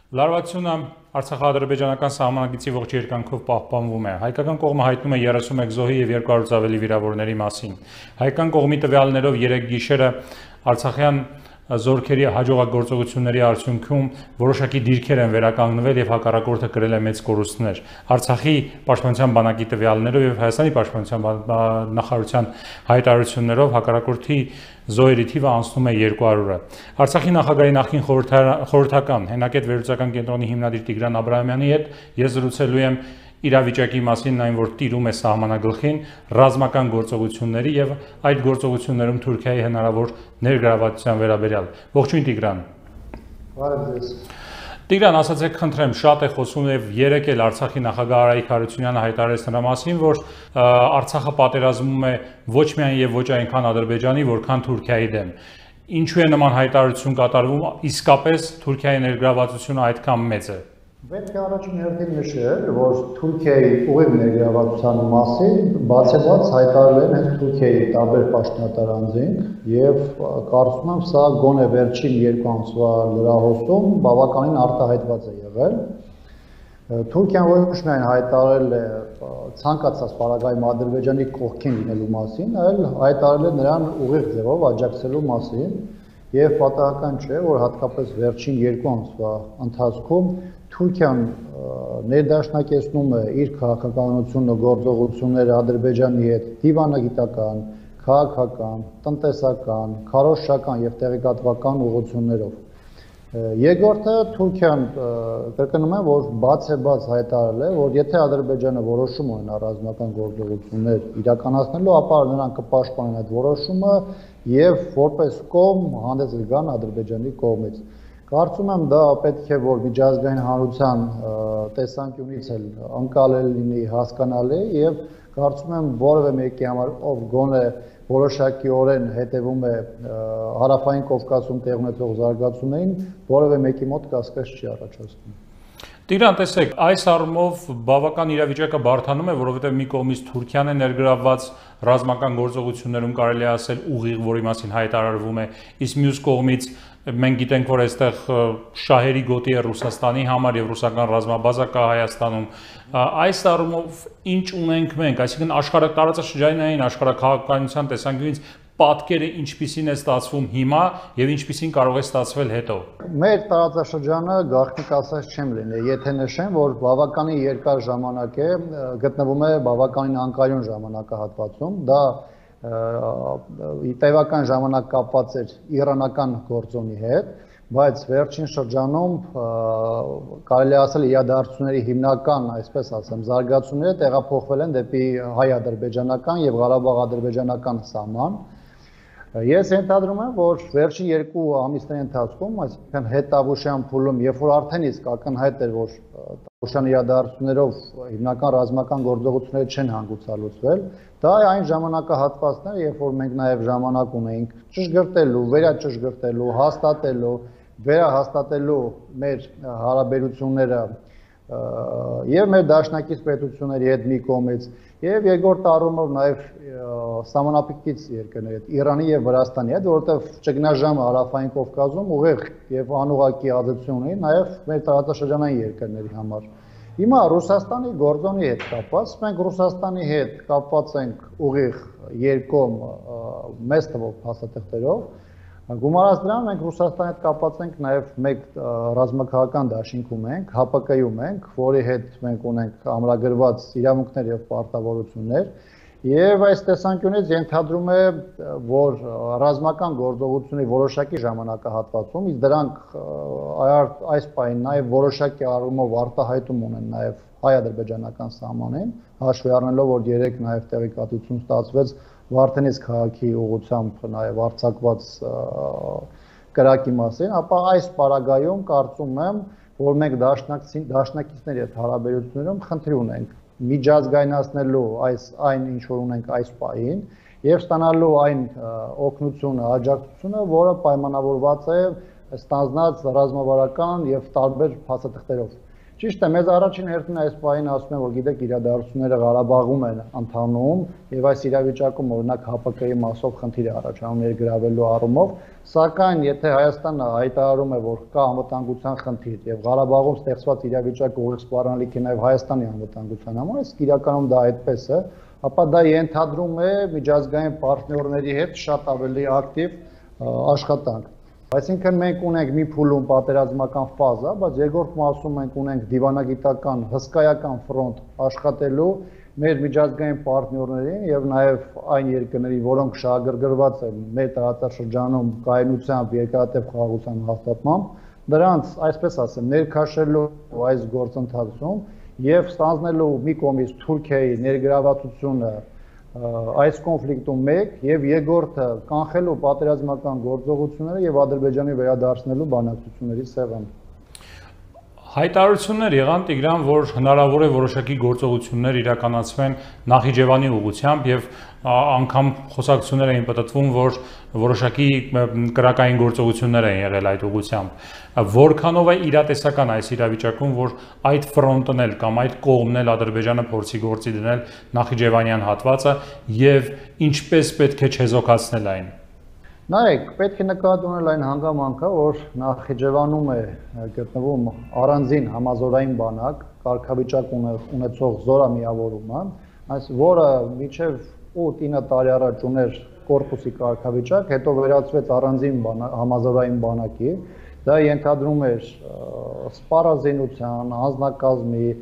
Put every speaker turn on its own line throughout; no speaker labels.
Լարվածությունը Արցախա-ադրբեջանական սահմանագծի ողջ երկայնքով պահպանվում է։ Հայկական կողմը հայտնում է 31 զոհի եւ 200-ից ավելի վիրավորների մասին։ Հայկական կողմի տվյալներով 3 գիշերը Արցախյան զորքերի հաջողագործողությունների արդյունքում որոշակի դիրքեր են վերականգնվել եւ հակառակորդը կրել է մեծ կորուստներ։ Արցախի պաշտպանության բանակի տվյալներով եւ Հայաստանի պաշտպանության նախարարության հայտարարություններով հակառակորդի զոհերի թիվը անցնում է 200-ը։ Արցախի նախագահի նախկին խորհրդական հենակետ վերլուծական կենտրոնի հիմնադիր Տիգրան Աբրահամյանի հետ ես զրուցելու եմ իրավիճակի մասին, այն որ տիրում է սահմանագլխին, ռազմական գործողությունների եւ այդ գործողություններում Թուրքիայի հնարավոր ներգրավվածության վերաբերյալ։ Ողջույն Տիգրան։
Բարև ձեզ։
Տիգրան, ասացեք խնդրեմ, շատ է խոսում եւ երեք էլ Արցախի նախագահ Արայիկ Հարությունյանը հայտարարեց նրա մասին, որ Արցախը պատերազմում է ոչ միայն եւ ոչ այնքան Ադրբեջանի, որքան Թուրքիայի դեմ։ Ինչու է նման հայտարարություն կատարվում, իսկապես Թուրքիայի ներգրավվածությունը այդքան մեծ է։
Պետք է առաջին հերթին նշել, որ Թուրքիայի ուղիղ ներգրավվածության մասին բացեբաց հայտարարել են հենց Թուրքիայի տարբեր պաշտոնատար անձինք եւ կարծում եմ սա գոնե վերջին 2 ամսվա լրահոսում բավականին արտահայտված է եղել։ Թուրքիան ոչ միայն հայտարարել է ցանկացած պարագայում Ադրբեջանի կողքին լինելու մասին, այլ հայտարարել է նրան ուղիղ ձևով աջակցելու մասին եւ պատահական չէ, որ հատկապես վերջին 2 ամսվա ընթացքում Թուրքիան ներդաշնակեցնում է իր քաղաքականությունը, գործողությունները Ադրբեջանի հետ դիվանագիտական, քաղաքական, տնտեսական, քարոզչական եւ տեղեկատվական ուղղություններով։ Երկրորդը Թուրքիան կրկնում է, որ բացեբաց հայտարարել է, որ եթե Ադրբեջանը որոշում ունենա ռազմական գործողություններ իրականացնելու, ապա նրանք կպաշտպանեն այդ որոշումը եւ որպես կողմ հանդես կգան Ադրբեջանի կողմից։ Կարծում եմ դա պետք է որ միջազգային հանրության տեսանկյունից էլ անկալել լինի, հասկանալի եւ կարծում եմ որևէ մեկի համար ով գոնե որոշակիորեն հետևում է հարավային Կովկասում տեղ ունեցող զարգացումներին, որևէ մեկի մոտ կասկած չի առաջացնում։
Տիգրան, տեսեք, այս առումով բավական իրավիճակը բարդանում է, որովհետև մի կողմից Թուրքիան է ներգրավված ռազմական գործողություններում կարելի է ասել ուղիղ, որի մասին հայտարարվում է, իսկ մյուս կողմից մենք գիտենք, որ այստեղ շահերի գոտի է Ռուսաստանի համար եւ ռուսական ռազմաբազա կա Հայաստանում։ Այս առումով ինչ ունենք մենք, այսինքն աշխարհ տարածաշրջանային աշխարհաքաղաքականության տեսանկյունից պատկերը ինչպիսին է ստացվում հիմա եւ ինչպիսին կարող է ստացվել հետո։
Մեր տարածաշրջանը գաղտնիք ասած չեմ լինի, եթե նշեմ, որ բավականին երկար ժամանակ է գտնվում է բավականին անկայուն ժամանակահատվածում, դա տևական ժամանակ կապված էր իրանական գործոնի հետ, բայց վերջին շրջանում կարելի ասել իրադարձությունների հիմնական, այսպես ասեմ, զարգացումները տեղափոխվել են դեպի հայ-ադրբեջանական եւ Ղարաբաղ-ադրբեջանական սահման։ Ես ենթադրում եմ, որ վերջին 2 ամիսների ընթացքում, այսինքն հետավուշյան փուլում, երբ որ արդեն իսկ ակնհայտ էր, որ տավուշյան իրադարձություններով հիմնական ռազմական գործողությունները չեն հանգուցալուծվել, դա այն ժամանակահատվածն էր, երբ որ մենք նաև ժամանակ ունեինք ճշգրտելու, վերաճշգրտելու, հաստատելու, վերահաստատելու մեր հարաբերությունները եւ մեր դաշնակից պետությունների հետ մի կողմից եւ երկրորդ առումով նաեւ սահմանապիկից երկրների հետ Իրանի եւ Վրաստանի հետ, որովհետեւ ճգնաժամը հարավային Կովկասում ուղիղ եւ անուղղակի ազդեցություն ունի նաեւ մեր տարածաշրջանային երկրների համար։ Հիմա Ռուսաստանի գործոնի հետ կապված, մենք Ռուսաստանի հետ կապված ենք ուղիղ երկկողմ մեծ թվով փաստաթղթերով, գումարած դրան մենք Ռուսաստանի հետ կապված ենք նաև մեկ ռազմաքաղաքական դաշինքում ենք, ՀՊԿ-ում ենք, որի հետ մենք ունենք ամրագրված իրավունքներ եւ պարտավորություններ, եւ այս տեսանկյունից ենթադրում է, որ ռազմական գործողությունների որոշակի ժամանակահատվածում, իսկ դրանք այս պահին նաև որոշակի առումով արտահայտում ունեն նաև հայ-ադրբեջանական սահմանին, հաշվի առնելով, որ երեք նաև տեղեկատվություն ստացվեց Վարդենիս քաղաքի ուղղությամբ նաև արձակված կրակի մասին, ապա այս պարագայում կարծում եմ, որ մենք դաշնակիցների հետ հարաբերություններում խնդիր ունենք միջազգայնացնելու այն ինչ որ ունենք այս պահին եւ ստանալու այն օգնությունը, աջակցությունը, որը պայմանավորված է ստանձնած ռազմավարական եւ տարբեր փաստաթղթերով։ Ճիշտ է, մեզ առաջին հերթին այս պահին ասում են, որ գիտեք, իրադարձությունները Ղարաբաղում են ընթանում, եւ այս իրավիճակում օրինակ ՀՊԿ-ի մասով խնդիր է առաջանում ներգրավելու առումով, սակայն եթե Հայաստանը հայտարարում է, որ կա անվտանգության խնդիր եւ Ղարաբաղում ստեղծված իրավիճակը ուղիղ սպառնալիք է նաեւ Հայաստանի անվտանգության համար, իսկ իրականում դա այդպես է, ապա դա ենթադրում է միջազգային պարտներների հետ շատ ավելի ակտիվ աշխատանք։ Այսինքն մենք ունենք մի փուլում պատերազմական ֆազա, բայց երկրորդ մասում մենք ունենք դիվանագիտական հսկայական ֆրոնտ աշխատելու մեր միջազգային պարտներներին եւ նաեւ այն երկրների, որոնք շահագրգռված են մեր տարածաշրջանում կայունությամբ, երկարատև խաղաղության հաստատմամբ, դրանց, այսպես ասեմ, ներքաշելու այս գործընթացում եւ ստանձնելու մի կողմից Թուրքիայի ներգրավվածությունը այս կոնֆլիկտում մեկ եւ երկրորդը կանխելու պատերազմական գործողությունները եւ Ադրբեջանի վերադարձնելու բանակցությունների սեղան։
Հայտարարություններ եղան Տիգրան, որ հնարավոր է որոշակի գործողություններ իրականացվեն Նախիջևանի ուղղությամբ եւ անգամ խոսակցություններ էին պատտվում, որ որոշակի կրակային գործողություններ են եղել այդ ուղղությամբ։ Որքանով է իրատեսական այս իրավիճակում, որ այդ ֆրոնտն էլ կամ այդ կողմն էլ Ադրբեջանը փորձի գործի դնել Նախիջևանյան հատվածը եւ ինչպես պետք է չեզոքացնել այն։
Նայեք, պետք է նկատի ունենալ այն հանգամանքը, որ Նախիջևանում է գտնվում առանձին համազորային բանակ, կարգավիճակ ունեցող զորամիավորումը, որը մինչև 8-9 տարի առաջ ուներ կորպուսի կարգավիճակ, հետո վերածվեց առանձին համազորային բանակի, դա ենթադրում էր սպառազինության, անձնակազմի,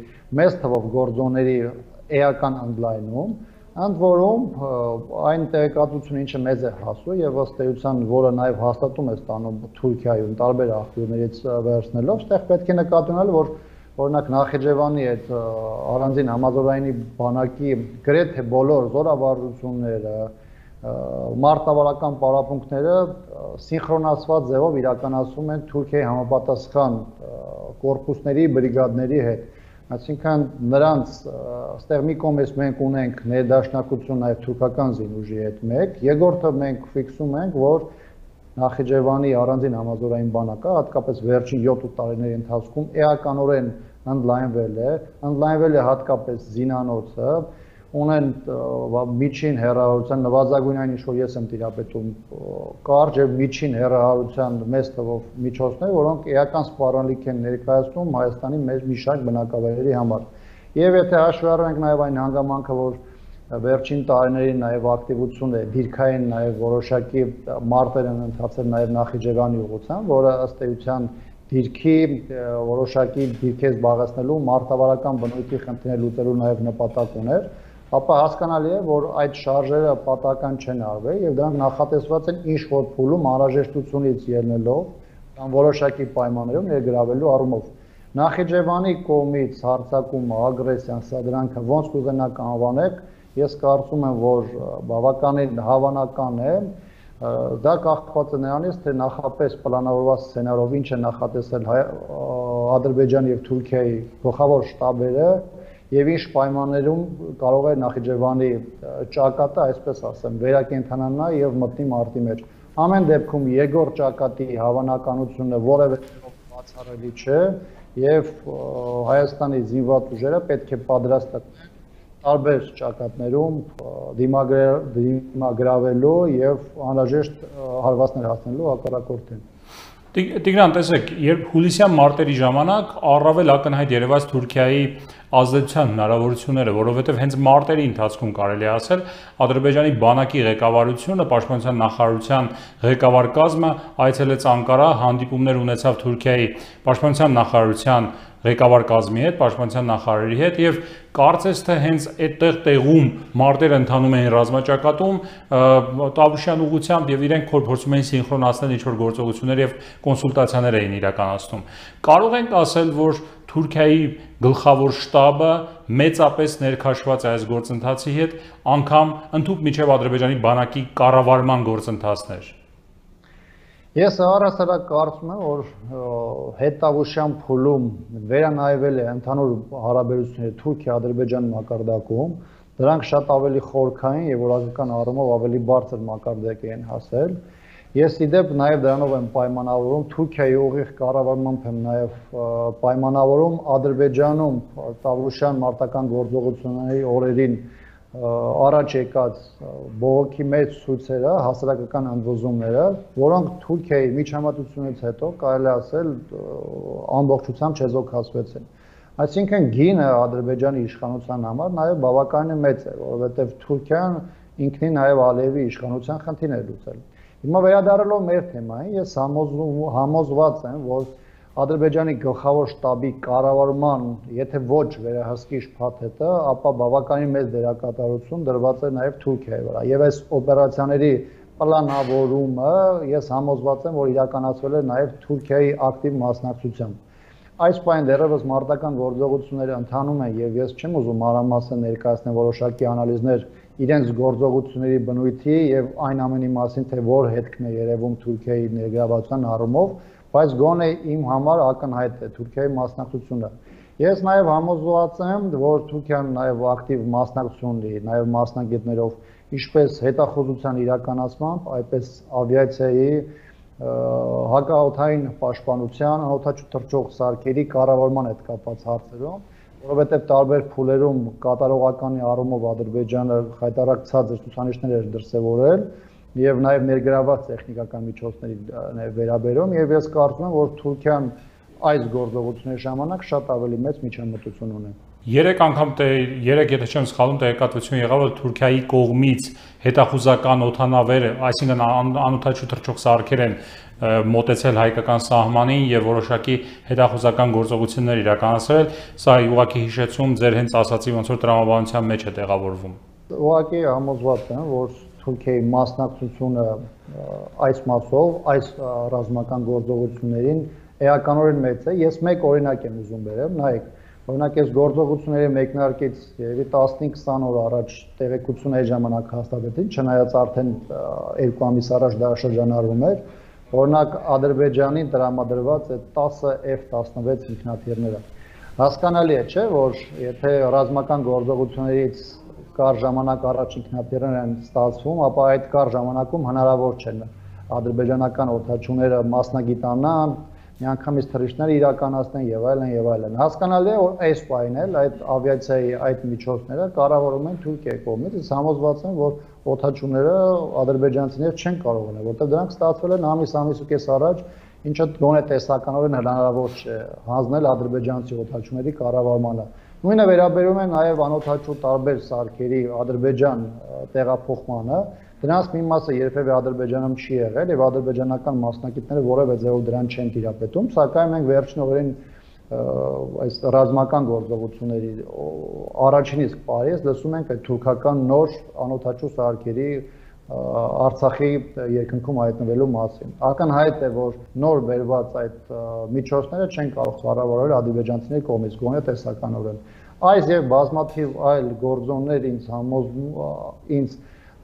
մեծ թվով գործոնների էական ընդլայնում, ընդ որում այն տեղեկատվությունը, ինչը մեզ է հասու եւ ըստ էության, որը նաեւ հաստատում է ստանում Թուրքիայում տարբեր աղբյուրներից վերցնելով, այդտեղ պետք է նկատի ունենալ, որ օրինակ Նախիջևանի այդ առանձին համազորայինի բանակի գրեթե բոլոր զորավարժությունները, մարտավարական պարապմունքները սինխրոնացված ձևով իրականացվում են Թուրքիայի համապատասխան կորպուսների, բրիգադների հետ։ Այսինքն նրանց ստեղ մի կողմից մենք ունենք ներդաշնակություն նաև թուրքական զինուժի հետ մեկ, երկրորդը մենք ֆիքսում ենք, որ Նախիջևանի առանձին համազորային բանակը, հատկապես վերջին 7 տարիների ընթացքում էականորեն ընդլայնվել է հատկապես զինանոցը, ունեն միջին հեռահարության նվազագույն այն ինչ որ ես եմ տիրապետում կարճ եւ միջին հեռահարության մեծ թվով միջոցներ, որոնք էական սպառնալիք են ներկայացնում Հայաստանի մեր մի շարք բնակավայրերի համար։ Եվ եթե հաշվի առնենք նաեւ այն հանգամանքը, որ վերջին տարիներին նաեւ ակտիվություն է դիրքային նաեւ որոշակի մարտեր են ընթացել նաեւ Նախիջևանի ուղղությամբ, որը ըստ էության դիրքի որոշակի դիրքեր զբաղեցնելու մարտավարական բնույթի խնդիրներ լուծելու նաեւ նպատակ ուներ, ապա հասկանալի է, որ այդ շարժերը պատահական չեն արվել եւ դրանք նախատեսված են ինչ-որ փուլում անհրաժեշտությունից ելնելով կամ որոշակի պայմաններում ներգրավելու առումով։ Նախիջևանի կողմից հարձակումը, ագրեսիան, սա դրանք ոնց կուզենաք անվանեք, ես կարծում եմ, որ բավականին հավանական է, դա կախված է նրանից, թե նախապես պլանավորված սցենարով ինչ է նախատեսել Ադրբեջանի եւ Թուրքիայի գլխավոր շտաբերը եւ ինչ պայմաններում կարող է Նախիջևանի ճակատը, այսպես ասեմ, վերակենդանանա եւ մտնի մարտի մեջ։ Ամեն դեպքում երկրորդ ճակատի հավանականությունը որևէ բացառելի չէ եւ Հայաստանի զինված ուժերը պետք է պատրաստ լինեն տարբեր ճակատներում դիմագրավելու եւ անհրաժեշտ հարվածներ հասնելու հակառակորդին։
Տիգրան, տեսեք, երբ հուլիսյան մարտերի ժամանակ առավել ակնհայտ երևաց Թուրքիայի ազդեցության հնարավորությունները, որովհետև հենց մարտերի ընթացքում կարելի է ասել, Ադրբեջանի բանակի ղեկավարությունը, Պաշտպանության նախարարության ղեկավար կազմը այցելեց Անկարա, հանդիպումներ ունեցավ Թուրքիայի Պաշտպանության նախարարության ղեկավար կազմի հետ, Պաշտպանության նախարարի հետ եւ կարծես թե հենց այդտեղ տեղում մարտերը ընթանում էին ռազմաճակատում Տավուշյան ուղղությամբ եւ իրենք փորձում էին սինխրոնացնել ինչ-որ գործողություններ եւ կոնսուլտացիաներ էին իրականացնում։ Կարող ենք ասել, որ Թուրքիայի գլխավոր շտաբը մեծապես ներքաշված է այս գործընթացի հետ, անգամ ընդհանուր միջև Ադրբեջանի բանակի կառավարման գործընթացներ։
Ես առհասարակ կարծում եմ, որ հետտավուշյան փուլում վերանայվել է ընդհանուր հարաբերությունները Թուրքիա-Ադրբեջան մակարդակում, դրանք շատ ավելի խորքային եւ որակական առումով ավելի բարձր մակարդակ են հասել, Ես իդեպ նաև դրանով եմ պայմանավորում Թուրքիայի ուղիղ կառավարմամբ եմ նաև պայմանավորում Ադրբեջանում Տավուշյան մարտական գործողությունների օրերին առաջ եկած բողոքի մեծ ցույցերը, հասարակական ընդվզումները, որոնք Թուրքիայի միջամտությունից հետո կարելի ասել ամբողջությամբ չեզոքացվեցին։ Այսինքն գինը Ադրբեջանի իշխանության համար նաև բավականին մեծ է, որովհետև Թուրքիան ինքնին նաև Ալիևի իշխանության խնդիրներ լուծել։ Հիմա վերադառնալով մեր թեմային, ես համոզված եմ, որ Ադրբեջանի գլխավոր շտաբի կառավարման, եթե ոչ վերահսկիչ փաթեթը, ապա բավականին մեծ դերակատարություն դրված է նաև Թուրքիայի վրա։ Եվ այս օպերացիաների պլանավորումը ես համոզված եմ, որ իրականացվել է նաև Թուրքիայի ակտիվ մասնակցությամբ։ Այս պայն դեռևս մարտական գործողությունները ընթանում են եւ ես չեմ ուզում մանրամասն ներկայացնել որոշակի անալիզներ իրենց գործողությունների բնույթի եւ այն ամենի մասին, թե որ հետքն է երևում Թուրքիայի ներգրավվածության առումով, բայց գոնե իմ համար ակնհայտ է Թուրքիայի մասնակցությունը։ Ես նաեւ համոզված եմ, որ Թուրքիան նաեւ ակտիվ մասնակցություն ունի, նաեւ մասնագետներով, ինչպես հետախուզության իրականացմամբ, այդպես ավիացիայի հակաօդային պաշտպանության, օդաչու թռչող սարքերի կառավարման հետ կապված հարցերում, որովհետև տարբեր փուլերում կատարողականի առումով Ադրբեջանը խայտառակ ցածր ցուցանիշներ էր դրսևորել եւ նաեւ ներգրավված տեխնիկական միջոցների վերաբերում եւ ես կարծում եմ, որ Թուրքիան այս գործողությունների ժամանակ շատ ավելի մեծ միջամտություն ունի։
Երեք անգամ եթե չեմ սխալվում, տեղեկատվություն եղավ, որ Թուրքիայի կողմից հետախուզական օդանավերը, այսինքն անօդաչու թռչող սարքեր են մոտեցել հայկական սահմանին եւ որոշակի հետախուզական գործողություններ իրականացրել, սա ուղղակի հիշեցում ձեր հենց ասացի ոնց որ տրամաբանության մեջ է տեղավորվում։
Ուղղակի համոզված եմ, որ Թուրքիայի մասնակցությունը այս մասով, այս ռազմական գործողություններին էականորեն մեծ է։ Ես մեկ օրինակ եմ ուզում բերեմ, նայեք, օրինակ այս գործողությունների մեկնարկից երևի 15-20 օր առաջ տեղեկություն այդ ժամանակ հաստատեցին, չնայած արդեն 2 ամիս առաջ դա շրջանառվում էր, օրինակ Ադրբեջանին տրամադրված է 10 F-16 ինքնաթիռները։ Հասկանալի է, չէ, որ եթե ռազմական գործողություններից կար ժամանակ առաջ ինքնաթիռներ են ստացվում, ապա այդ կար ժամանակում հնարավոր չէ ադրբեջանական օդաչուները մասնագիտանան, միանգամից թռիչքներ իրականացնեն եւ այլն եւ այլն։ Հասկանալի է, որ այս պայն էլ այդ ավիացիայի այդ միջոցները կառավարում են Թուրքիայի կողմից, իսկ համոզված եմ, որ օդաչուները ադրբեջանցիներ չեն կարող ունենալ, որտեղ դրանք ստացվել են ամիս ու կես առաջ, ինչը գոնե տեսականորեն հնարավոր չէ հանձնել ադրբեջանցի օդաչուների կառավարմանը։ Նույնը վերաբերում է նաև անօդաչու տարբեր սարքերի Ադրբեջան տեղափոխմանը, դրանց մի մասը երբևէ Ադրբեջանում չի եղել եւ ադրբեջանական մասնակիցները որևէ ձևով դրան չեն տիրապետում, սակայն մենք վերջին օրերին այս ռազմական գործողությունների առաջին իսկ պարից լսում ենք այդ թուրքական նոր անօդաչու սարքերի Արցախի երկնքում հայտնվելու մասին։ Ակնհայտ է, որ նոր բերված այդ միջոցները չեն կարող կառավարվել ադրբեջանցիների կողմից, գոնե տեսականորեն։ Այս եւ բազմաթիվ այլ գործոններ ինձ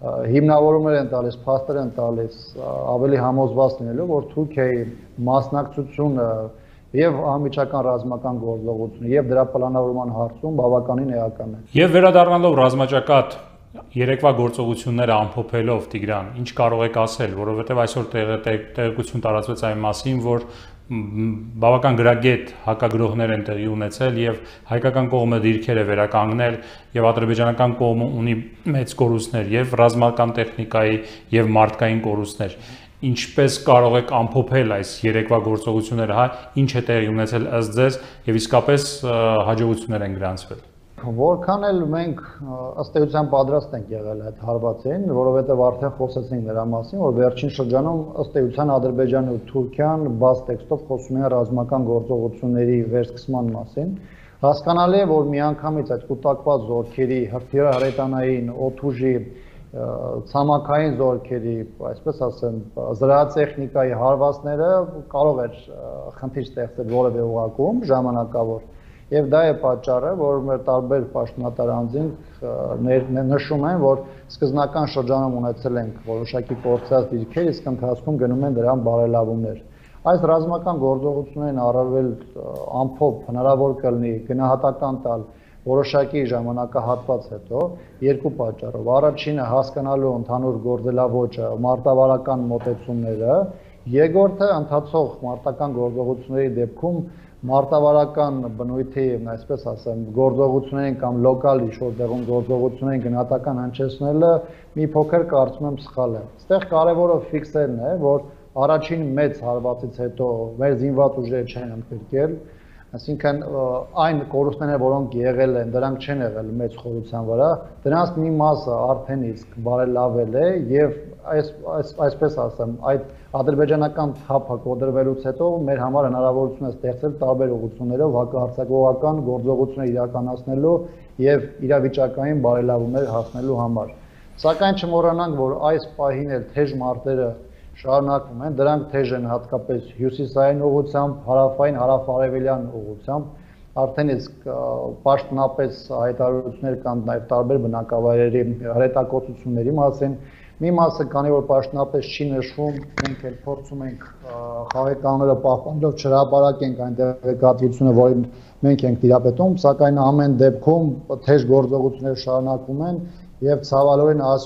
հիմնավորումներ են տալիս, փաստեր են տալիս ավելի համոզված լինելու, որ Թուրքիայի մասնակցությունը եւ անմիջական ռազմական գործողությունը եւ դրա պլանավորման հարցում բավականին էական է։
Եվ վերադառնալով ռազմաճակատ երեկվա գործողությունները ամփոփելով Տիգրան, ինչ կարող եք ասել, որովհետև այսօր տեղեկություն տարածվեց այն մասին, որ բավական գրագետ հակագրողներ են տեղի ունեցել եւ հայկական կողմը դիրքեր է վերականգնել եւ ադրբեջանական կողմը ունի մեծ կորուստներ եւ ռազմական տեխնիկայի եւ մարդկային կորուստներ։ Ինչպես կարող եք ամփոփել այս երեկվա գործողությունները, հա, ինչ է տեղի ունեցել ըստ ձեզ եւ իսկապես հաջողություններ են գրանցվել։
Որքան էլ մենք ըստ էության պատրաստ ենք եղել այդ հարվածին, որովհետև արդեն խոսեցինք նրա մասին, որ վերջին շրջանում ըստ էության Ադրբեջանը ու Թուրքիան բաց տեքստով խոսում են ռազմական գործողությունների վերսկսման մասին։ Հասկանալի է, որ միանգամից այդ կուտակված զորքերի, հրթիռահրետանային, օդուժի, ցամաքային զորքերի, այսպես ասեմ, զրահատեխնիկայի հարվածները կարող էր խնդիր ստեղծել որևէ ուղղակում ժամանակավոր։ Եվ դա է պատճառը, որ մեր տարբեր պաշտոնատար անձինք նշում են, որ սկզբնական շրջանում ունեցել ենք որոշակի կորցրած դիրքեր, իսկ ընթացքում գնում են դրան բարելավումներ։ Այս ռազմական գործողություններին առավել ամփոփ հնարավոր կլինի գնահատական տալ որոշակի ժամանակահատված հետո երկու պատճառով։ Առաջինը հասկանալու ընդհանուր գործելավոճը, մարտավարական մոտեցումները, երկրորդը ընթացող մարտական գործողությունների դեպքում մարտավարական բնույթի, այսպես ասեմ, գործողություններին կամ լոկալ ինչ-որ տեղում գործողություններին գնահատական հնչեցնելը մի փոքր կարծում եմ սխալ է։ Այստեղ կարևորը ֆիքսելն է, որ առաջին մեծ հարվածից հետո մեր զինված ուժերը չեն ընդգրկել, այսինքն այն կորուստները, որոնք եղել են, դրանք չեն եղել մեծ խորության վրա, դրանց մի մասը արդեն իսկ բարելավել է եւ այսպես ասեմ, այդ ադրբեջանական թափը կոտրվելուց հետո մեր համար հնարավորություն է ստեղծել տարբեր ուղղություններով հակահարձակողական գործողություններ իրականացնելու եւ իրավիճակային բարելավումներ հասնելու համար։ Սակայն չմոռանանք, որ այս պահին էլ թեժ մարտերը շարունակվում են, դրանք թեժ են հատկապես հյուսիսային ուղղությամբ, հարավային, հարավ-արևելյան ուղղությամբ, արդեն իսկ պաշտոնապես հայտարարություններ կան նաև տարբեր բնակավայրերի հրետակոծությունների մասին։ Մի մասը, քանի որ պաշտոնապես չի նշվում, մենք էլ փորձում ենք խաղի կանոնները պահպանելով չհրապարակենք այն տեղեկատվությունը, որին մենք ենք տիրապետում, սակայն ամեն դեպքում թեժ գործողություններ շարունակվում են եւ ցավալորեն այս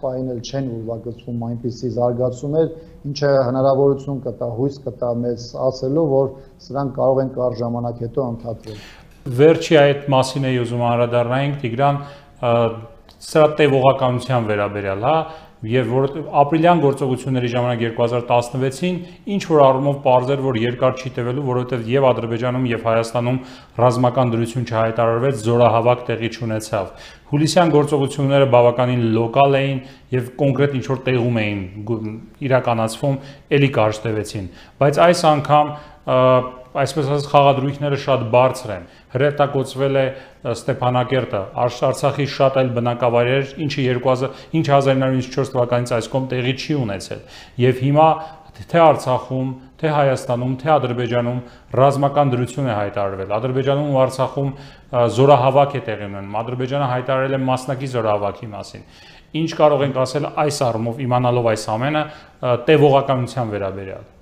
պահին էլ չեն ուրվագծվում այնպիսի զարգացումներ, ինչը հնարավորություն կտա, հույս կտա մեզ ասելու, որ սրանք կարող են կարճ ժամանակ հետո ընդհատվել։
Վերջի այդ մասին էի ուզում անդրադառնանք, Տիգրան, սրա տևողականության վերաբերյալ, հա, եւ որ ապրիլյան գործողությունների ժամանակ 2016-ին ինչ որ առումով պարզ էր, որ երկար չի տևելու, որովհետեւ եւ Ադրբեջանում եւ Հայաստանում ռազմական դրություն չհայտարարվեց, զորահավաք տեղի չունեցավ։ Հուլիսյան գործողությունները բավականին լոկալ էին եւ կոնկրետ ինչ որ տեղում էին իրականացվում, ելի կարճ տևեցին, բայց այս անգամ այսպես ասած խաղադրույքները շատ բարձր են։ Հրետակոծվել է Ստեփանակերտը, Արցախի շատ այլ բնակավայրեր, ինչը 1994 թվականից այս կողմ տեղի չի ունեցել։ Եվ հիմա թե Արցախում, թե Հայաստանում, թե Ադրբեջանում ռազմական դրություն է հայտարարվել։ Ադրբեջանում ու Արցախում զորահավաք է տեղի ունենում։ Ադրբեջանը հայտարարել է մասնակի զորահավաքի մասին։ Ինչ կարող ենք ասել այս առումով, իմանալով այս ամենը, տևողականության վերաբերյալ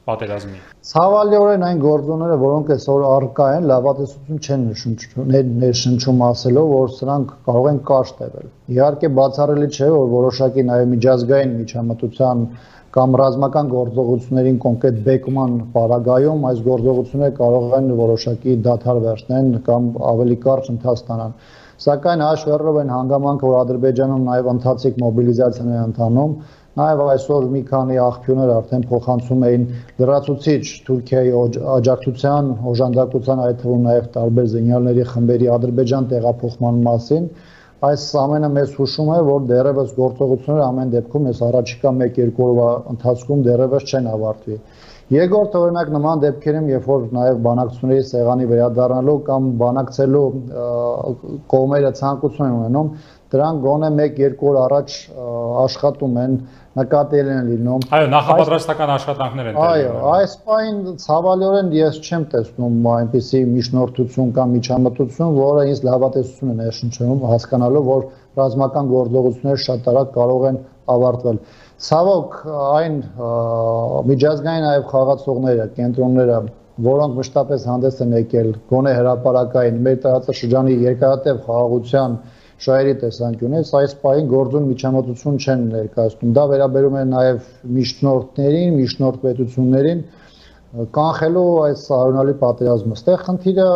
պատերազմի։
Ցավալիորեն այն գործոնները, որոնք այսօր առկա են, լավատեսություն չեն ներշնչում ասելով, որ սրանք կարող են կարճ տևել։ Իհարկե բացառելի չէ, որ որոշակի նաև միջազգային միջամտության կամ ռազմական գործողություններին կոնկրետ բեկման պարագայում այս գործողությունները կարող են որոշակի դադար վերցնեն կամ ավելի կարճ ընթաց ստանան։ Սակայն հաշվառով են հանգամանքը, որ Ադրբեջանում նաև ընթացիկ մոբիլիզացիան է ընթանում, նաև այսօր մի քանի աղբյուրներ արդեն փոխանցում էին լրացուցիչ Թուրքիայի աջակցության, օժանդակության, այդ թվում նաև տարբեր զինյալների խմբերի Ադրբեջան տեղափոխման մասին։ Այս ամենը մեզ հուշում է, որ դեռևս գործողությունները ամեն դեպքում այս առաջիկա 1-2 օրվա ընթացքում դեռևս չեն ավարտվի։ Երկրորդ օրինակ նման դեպքերում, երբ որ նաև բանակցությունների սեղանի վերադառնալու կամ բանակցելու կողմերը ցանկություն են ունենում, դրանք գոնե 1-2 օր առաջ աշխատում են, նկատել են լինում։
Այո, նախապատրաստական աշխատանքներ են
տեղի ունենում։ Այո, այս պահին ցավալիորեն ես չեմ տեսնում այնպիսի միջնորդություն կամ միջամտություն, որը ինձ լավատեսություն է ներշնչում, հասկանալով, որ ռազմական գործողությունները շատ արագ կարող են ավարտվել։ Ցավոք, այն միջազգային նաև խաղացողները, կենտրոնները, որոնք մշտապես հանդես են եկել գոնե հրապարակային մեր տարածաշրջանի երկարատև խաղաղության շահերի տեսանկյունից, այս պահին գործուն միջամտություն չեն ներկայացնում։ Դա վերաբերում է նաև միջնորդներին, միջնորդ պետություններին կանխելու այս սահմանալի պատերազմը։ Այստեղ խնդիրը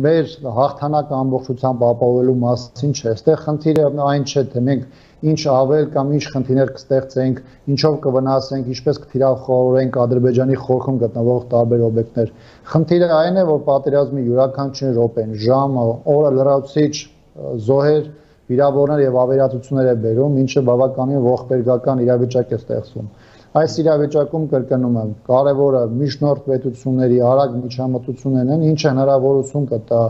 մեր հաղթանակը ամբողջությամբ ապահովելու մասին չէ։ Այստեղ խնդիրը այն չէ, թե մենք ինչ ավել կամ ինչ խնդիրներ կստեղծենք, ինչով կվնասենք, ինչպես կթիրախավորենք Ադրբեջանի խորքում գտնվող տարբեր օբյեկտներ։ Խնդիրը այն է, որ պատերազմի յուրաքանչյուր րոպեն, ժամը, օրը լրացուցիչ զոհեր, վիրավորներ եւ ավերածություններ է բերում, ինչը բավականին ողբերգական իրավիճակ է ստեղծում։ Այս իրավիճակում կրկնում եմ, կարևորը միջնորդ պետությունների արագ միջամտություններն են, ինչը հնարավորություն կտա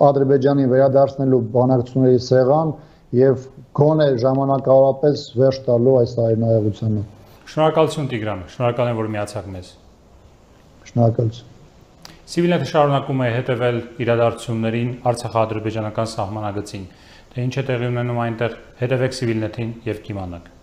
Ադրբեջանին վերադարձնելու բանակցությունների սեղան եւ գոնե ժամանակավորապես վերջ տալու այս այլայնությանը։
Շնորհակալություն Տիգրան, շնորհակալ եմ, որ միացաք մեզ։
Շնորհակալություն։
Civilnet-ը շարունակում է հետևել իրադարձություններին Արցախա-ադրբեջանական սահմանագծին։ Թե ինչ է տեղի ունենում այնտեղ, հետևեք Civilnet-ին եւ կիմանաք։